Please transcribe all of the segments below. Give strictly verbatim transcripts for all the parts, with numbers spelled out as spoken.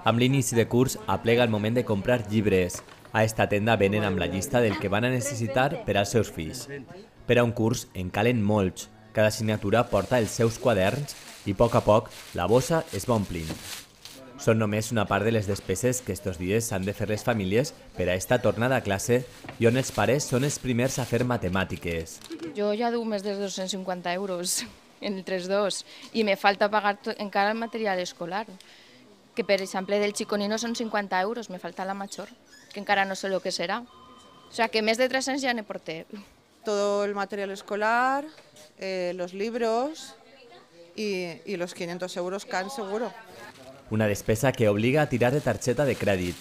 Amb l'inici de curs aplega el moment de comprar llibres. A esta tenda venen amb la llista del que van a necessitar per als seus fills. Per a un curs en calen molts. Cada assignatura porta els seus quaderns i a poc a poc la bossa es va omplint. Són només una part de les despeses que estos dies s'han de fer les famílies per a esta tornada a classe i on els pares són els primers a fer matemàtiques. Jo ja duc més de dos-cents cinquanta euros entre els dos i me falta pagar encara el material escolar, que per exemple del xiconino són cinquanta euros, me falta la major, que encara no sé el que serà. O sea que més de tres-cents ja ne porté. Todo el material escolar, eh, los libros y, y los quinientos euros C A N seguro. Una despesa que obliga a tirar de targeta de crèdit.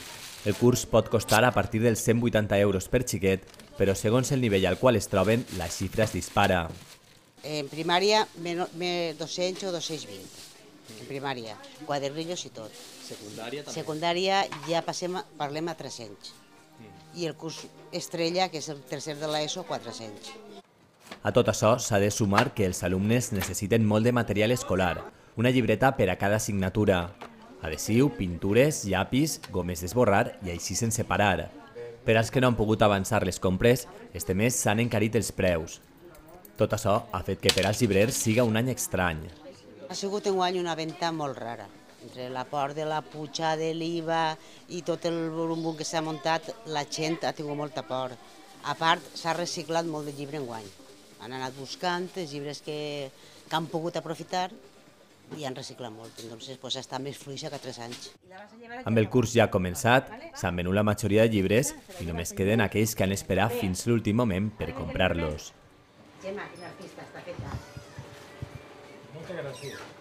El curs pot costar a partir dels cent vuitanta euros per xiquet, però segons el nivell al qual es troben, la xifra es dispara. En primària, dos-cents o dos-cents vint. En primària, quadernillos i tot. Secundària també? Secundària ja passem, parlem a tres-cents. I el curs estrella, que és el tercer de l'ESO, quatre-cents. A tot això s'ha de sumar que els alumnes necessiten molt de material escolar, una llibreta per a cada assignatura, adhesiu, pintures, llapis, gomes d'esborrar i així sense parar. Per als que no han pogut avançar les compres, este mes s'han encarit els preus. Tot això ha fet que per als llibrers siga un any estrany. Ha sigut un any una venda molt rara. Entre la por de la puja de l'I V A i tot el burumbum que s'ha muntat, la gent ha tingut molta por. A part, s'ha reciclat molt de llibre enguany. Han anat buscant els llibres que, que han pogut aprofitar i han reciclat molt. Entonces, pues, està més fluixa que tres anys. Amb el curs ja començat, s'han venut la majoria de llibres i només queden aquells que han esperat fins l'últim moment per comprar-los. Gemma, quin artista està feta. Moltes gràcies.